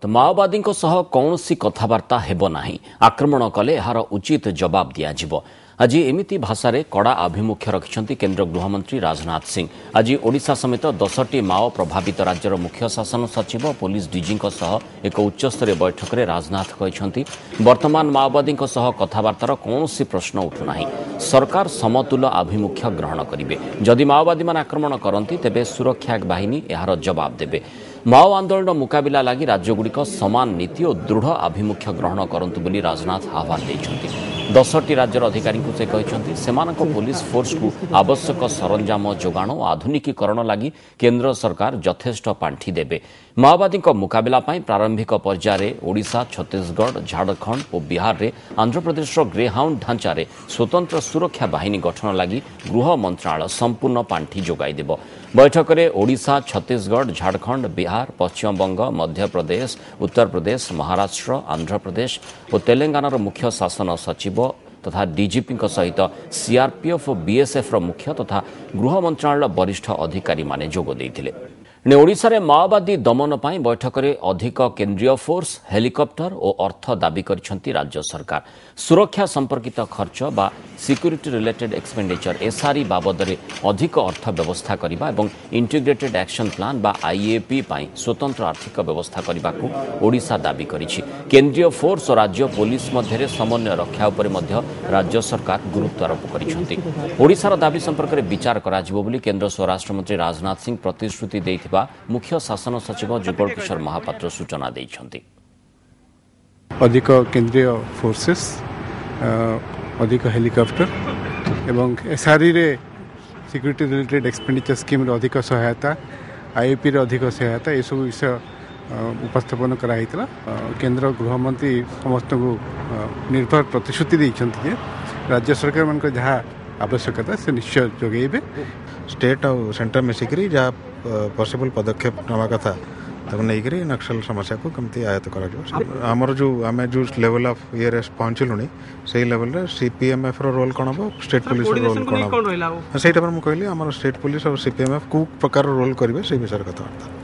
ତ ମାଓବାଦୀଙ୍କ ସହ କୌଣସି କଥାବାର୍ତ୍ତା ହେବ ନାହିଁ, ଆକ୍ରମଣ କଲେ ଏହାର ଉଚିତ ଜବାବ ଦିଆଯିବ। ଆଜି ଏମିତି ଭାଷାରେ କଡ଼ା ଆଭିମୁଖ୍ୟ ରଖିଛନ୍ତି କେନ୍ଦ୍ର ଗୃହମନ୍ତ୍ରୀ ରାଜନାଥ ସିଂ। ଆଜି ଓଡ଼ିଶା ସମେତ 10ଟି ମାଓ ପ୍ରଭାବିତ ରାଜ୍ୟର ମୁଖ୍ୟ ଶାସନ ସଚିବ, ପୋଲିସ ଡିଜିଙ୍କ ସହ ଏକ ଉଚ୍ଚସ୍ତରୀୟ ବୈଠକରେ ରାଜନାଥ କହିଛନ୍ତି, ବର୍ତ୍ତମାନ ମାଓବାଦୀଙ୍କ ସହ କଥାବାର୍ତ୍ତାର କୌଣସି ପ୍ରଶ୍ନ ଉଠୁନାହିଁ। ସରକାର ସମତୁଲ ଆଭିମୁଖ୍ୟ ଗ୍ରହଣ କରିବେ। ଯଦି ମାଓବାଦୀମାନେ ଆକ୍ରମଣ କରନ୍ତି, ତେବେ ସୁରକ୍ଷା ବାହିନୀ ଏହାର ଜବାବ ଦେବେ। ମାଓ ଆନ୍ଦୋଳନର ମୁକାବିଲା ଲାଗି ରାଜ୍ୟଗୁଡ଼ିକ ସମାନ ନୀତି ଓ ଦୃଢ଼ ଆଭିମୁଖ୍ୟ ଗ୍ରହଣ କରନ୍ତୁ ବୋଲି ରାଜନାଥ ଆହ୍ୱାନ ଦେଇଛନ୍ତି। 10ଟି ରାଜ୍ୟର ଅଧିକାରୀଙ୍କୁ ସେ କହିଛନ୍ତି, ସେମାନଙ୍କ ପୋଲିସ ଫୋର୍ସକୁ ଆବଶ୍ୟକ ସରଞ୍ଜାମ ଯୋଗାଣ ଓ ଆଧୁନିକୀକରଣ ଲାଗି କେନ୍ଦ୍ର ସରକାର ଯଥେଷ୍ଟ ପାଣ୍ଠି ଦେବେ। ମାଓବାଦୀଙ୍କ ମୁକାବିଲା ପାଇଁ ପ୍ରାରମ୍ଭିକ ପର୍ଯ୍ୟାୟରେ ଓଡ଼ିଶା, ଛତିଶଗଡ଼, ଝାଡ଼ଖଣ୍ଡ ଓ ବିହାରରେ ଆନ୍ଧ୍ରପ୍ରଦେଶର ଗ୍ରେହାଉଣ୍ଡ ଢାଞ୍ଚାରେ ସ୍ୱତନ୍ତ୍ର ସୁରକ୍ଷା ବାହିନୀ ଗଠନ ଲାଗି ଗୃହ ମନ୍ତ୍ରଣାଳୟ ସମ୍ପୂର୍ଣ୍ଣ ପାଣ୍ଠି ଯୋଗାଇ ଦେବ। ବୈଠକରେ ଓଡ଼ିଶା, ଛତିଶଗଡ଼, ଝାଡ଼ଖଣ୍ଡ, ବିହାର, ପଶ୍ଚିମବଙ୍ଗ, ମଧ୍ୟପ୍ରଦେଶ, ଉତ୍ତରପ୍ରଦେଶ, ମହାରାଷ୍ଟ୍ର, ଆନ୍ଧ୍ରପ୍ରଦେଶ ଓ ତେଲେଙ୍ଗାନାର ମୁଖ୍ୟ ଶାସନ ସଚିବ ତଥା ଡିଜିପିଙ୍କ ସହିତ ସିଆର୍ପିଏଫ୍ ଓ ବିଏସ୍ଏଫ୍ର ମୁଖ୍ୟ ତଥା ଗୃହ ମନ୍ତ୍ରଣାଳୟର ବରିଷ୍ଠ ଅଧିକାରୀମାନେ ଯୋଗ ଦେଇଥିଲେ। ଓଡ଼ିଶାରେ ମାଓବାଦୀ ଦମନ ପାଇଁ ବୈଠକରେ ଅଧିକ କେନ୍ଦ୍ରୀୟ ଫୋର୍ସ, ହେଲିକପ୍ଟର ଓ ଅର୍ଥ ଦାବି କରିଛନ୍ତି ରାଜ୍ୟ ସରକାର। ସୁରକ୍ଷା ସମ୍ପର୍କିତ ଖର୍ଚ୍ଚ ବା ସିକ୍ୟୁରିଟି ରିଲେଟେଡ୍ ଏକ୍ସପେଣ୍ଡିଚର ଏସ୍ଆର୍ଇ ବାବଦରେ ଅଧିକ ଅର୍ଥ ବ୍ୟବସ୍ଥା କରିବା ଏବଂ ଇଣ୍ଟିଗ୍ରେଟେଡ୍ ଆକ୍ସନ୍ ପ୍ଲାନ୍ ବା ଆଇଏପି ପାଇଁ ସ୍ୱତନ୍ତ୍ର ଆର୍ଥିକ ବ୍ୟବସ୍ଥା କରିବାକୁ ଓଡ଼ିଶା ଦାବି କରିଛି। କେନ୍ଦ୍ରୀୟ ଫୋର୍ସ ଓ ରାଜ୍ୟ ପୋଲିସ ମଧ୍ୟରେ ସମନ୍ୱୟ ରକ୍ଷା ଉପରେ ମଧ୍ୟ ରାଜ୍ୟ ସରକାର ଗୁରୁତ୍ୱାରୋପ କରିଛନ୍ତି। ଓଡ଼ିଶାର ଦାବି ସମ୍ପର୍କରେ ବିଚାର କରାଯିବ ବୋଲି କେନ୍ଦ୍ର ସ୍ୱରାଷ୍ଟ୍ରମନ୍ତ୍ରୀ ରାଜନାଥ ସିଂ ପ୍ରତିଶ୍ରୁତି ଦେଇଥିବା ମୁଖ୍ୟ ଶାସନ ସଚିବ ଯୁଗଳ କିଶୋର ମହାପାତ୍ର ସୂଚନା ଦେଇଛନ୍ତି। ଅଧିକ କେନ୍ଦ୍ରୀୟ ଫୋର୍ସେସ୍, ଅଧିକ ହେଲିକପ୍ଟର ଏବଂ ଏସ୍ଆର୍ଇରେ ସିକ୍ୟୁରିଟି ରିଲେଟେଡ୍ ଏକ୍ସପେଣ୍ଡିଚର ସ୍କିମ୍ର ଅଧିକ ସହାୟତା, ଆଇଏପିର ଅଧିକ ସହାୟତା, ଏସବୁ ବିଷୟ ଉପସ୍ଥାପନ କରାହେଇଥିଲା। କେନ୍ଦ୍ର ଗୃହମନ୍ତ୍ରୀ ସମସ୍ତଙ୍କୁ ନିର୍ଭର ପ୍ରତିଶ୍ରୁତି ଦେଇଛନ୍ତି ଯେ ରାଜ୍ୟ ସରକାରମାନଙ୍କର ଯାହା ଆବଶ୍ୟକତା ସେ ନିଶ୍ଚୟ ଯୋଗାଇବେ। ଷ୍ଟେଟ୍ ଆଉ ସେଣ୍ଟର ମିଶିକରି ଯାହା ପସିବଲ୍ ପଦକ୍ଷେପ ନେବା କଥା ତାକୁ ନେଇକରି ନକ୍ସଲ ସମସ୍ୟାକୁ କେମିତି ଆୟତ୍ତ କରାଯିବ। ଆମର ଯେଉଁ ଆମେ ଯେଉଁ ଲେଭେଲ୍ ଅଫ୍ ଇଏରେ ପହଞ୍ଚିଲୁଣି, ସେଇ ଲେଭେଲରେ ସିପିଏମ୍ଏଫ୍ର ରୋଲ୍ କ'ଣ ହେବ, ଷ୍ଟେଟ୍ ପୋଲିସର ରୋଲ୍ କ'ଣ ହେବ, ସେଇଟା ପରେ ମୁଁ କହିଲି ଆମର ଷ୍ଟେଟ୍ ପୋଲିସ ଆଉ ସିପିଏମ୍ଏଫ୍ କେଉଁ ପ୍ରକାର ରୋଲ୍ କରିବେ ସେଇ ବିଷୟରେ କଥାବାର୍ତ୍ତା।